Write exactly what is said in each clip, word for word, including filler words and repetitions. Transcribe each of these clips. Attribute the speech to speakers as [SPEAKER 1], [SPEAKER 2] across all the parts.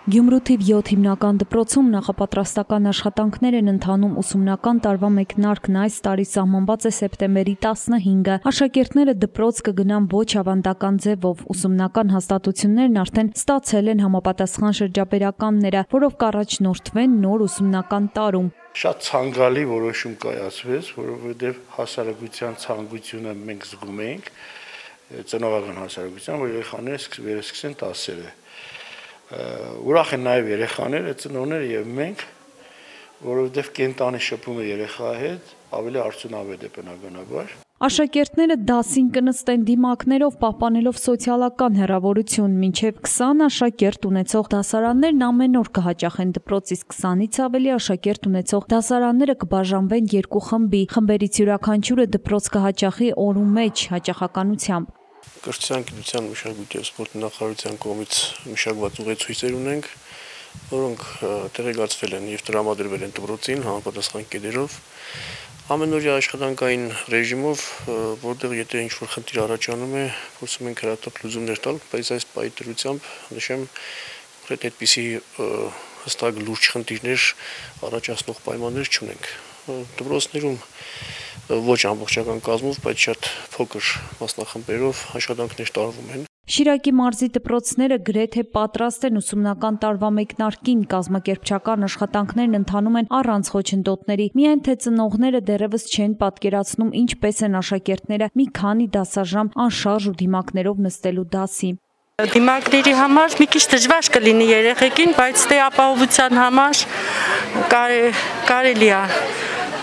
[SPEAKER 1] Գյումրու թիվ յոթ հիմնական դպրոցում նախապատրաստական աշխատանքներ են ընթանում ուսումնական տարվա մեկնարկն այս տարի սահմանված է սեպտեմբերի տասնհինգը։ Աշակերտները դպրոց կգնան ոչ ավանդական ձևով։ Ուսումնական հաստատություններն արդեն ստացել են համապատասխան շրջաբերականները, որով կառաջնորդվեն նոր ուսումնական տարում։
[SPEAKER 2] Շատ ցանկալի որոշում կայացվեց, որովհետև հասարակության ցանկությունը մենք զգում ենք, ծնողական հասարակության, որ երեխաները վերսկսեն դասերը։ Ուրախ են նաև երեխաները, ծնողները եւ մենք, որովհետեւ կենտանի շփումը երեխայի հետ ավելի արդյունավետ է բնականաբար։
[SPEAKER 1] Աշակերտները դասին կնստեն դիմակներով, պահպանելով սոցիալական հեռավորություն, մինչև քսան աշակերտ ունեցող դասարաններն ամեն օր կհաճախեն դպրոց, իսկ քսանից ավելի աշակերտ ունեցող դասարանները կբաժանվեն երկու խմբի։ Խմբերից յուրաքանչյուրը դպրոց կհաճախի օրու մեջ հաճախականությամբ։
[SPEAKER 3] Կրթության, գիտության, մշակույթի և սպորտի նախարարության կողմից մշակված ուղեցույցեր ունենք, որոնք տեղեկացվել են և տրամադրվել են դպրոցին համապատասխան կետերով, ամենօրյա աշխատանքային ռեժիմով, որտեղ եթե ինչ-որ խնդիր առաջանում է, փորձում ենք հրատապ լուծումներ տալ, բայց այս պահի դրությամբ նշեմ, կոնկրետ այդպիսի հստակ լուրջ խնդիրներ առաջացնող պայմաններ չունենք։ Դպրոցներում ոչ ամբողջական կազմով, բայց շատ փոքր մասնախմբերով աշխատանքներ տարվում են։
[SPEAKER 1] Շիրակի մարզի դպրոցները գրեթե պատրաստ են ուսումնական տարվա մեկնարկին, կազմակերպչական աշխատանքներն ընթանում են առանց խոչընդոտների, միայն թե ծնողները դեռևս չեն պատկերացնում ինչպես են աշակերտները մի քանի դասաժամ անշարժ ու դիմակներով նստելու դասի։
[SPEAKER 4] Դիմակների համար մի քիչ դժվար կլինի երեխեքին, բայց դե ապահովության համար կարելի է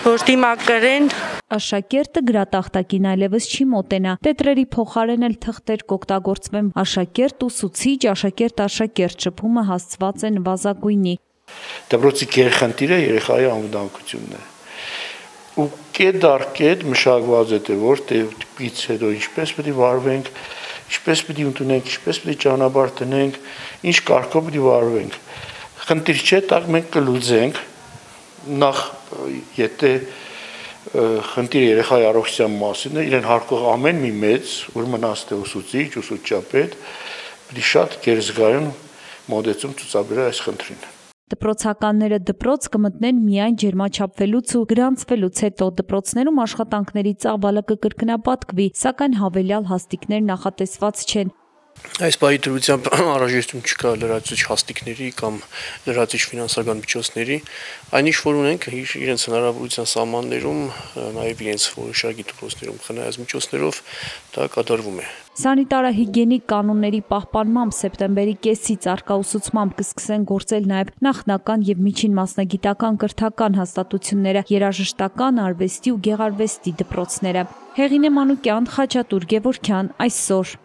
[SPEAKER 4] որ դիմակ կրեն։
[SPEAKER 1] Աշակերտը գրատախտակին այլևս չի մոտենա, տետրերի փոխարեն էլ թղթեր կօգտագործվեն։ Աշակերտ ուսուցիչ, աշակերտ-աշակերտ շփումը հասցված է նվազագույնի։
[SPEAKER 2] Դպրոցի գերխնդիրը երեխայի անվտանգությունն է։ Ու կետ դար կետ մշակված է, որ դեպից հետո ինչպես պետք է վարվենք, ինչպես պետք է ընդունենք, ինչպես պետք է ճանապարհ տնենք, ինչ կարգով պետք է վարվենք։ Խնդիր չէ, տակ մենք կլուծենք, նախ եթե խնդիր երեխայի առողջության մասին է, իրեն հարկող ամեն մի մեծ, որ մնաց թե ուսուցիչ, ուսուցչապետ, պետք է շատ գերզգայուն մոտեցում ցուցաբերել այս խնդրին։
[SPEAKER 1] Դպրոցականները դպրոց կմտնեն միայն ջերմաչափվելուց ու գրանցվելուց հետո դպրոցներում աշխատանքների ծավալը կկրկնապատկվի, սակայն հավելյալ հաստիկներ նախատեսված չեն։
[SPEAKER 3] Այս պահի դրությամբ անհրաժեշտություն չկա լրացուցիչ հաստիկների կամ լրացուցիչ ֆինանսական միջոցների, այն ինչ որ ունենք իրենց հնարավորության սահմաններում, նաև իրենց որոշակի դպրոցներում խնայած միջոցներով դա կատարվում է։
[SPEAKER 1] Սանիտարահիգիենիկ կանոնների պահպանմամբ սեպտեմբերի կեսից առկաուսուցմամբ կսկսեն գործել նաև նախնական և միջին մասնագիտական կրթական հաստատությունները, երաժշտական, արվեստի ու գեղարվեստի դպրոցները։ Հեղինե Մանուկյան, Խաչատուր Գևորգյան, այսօր։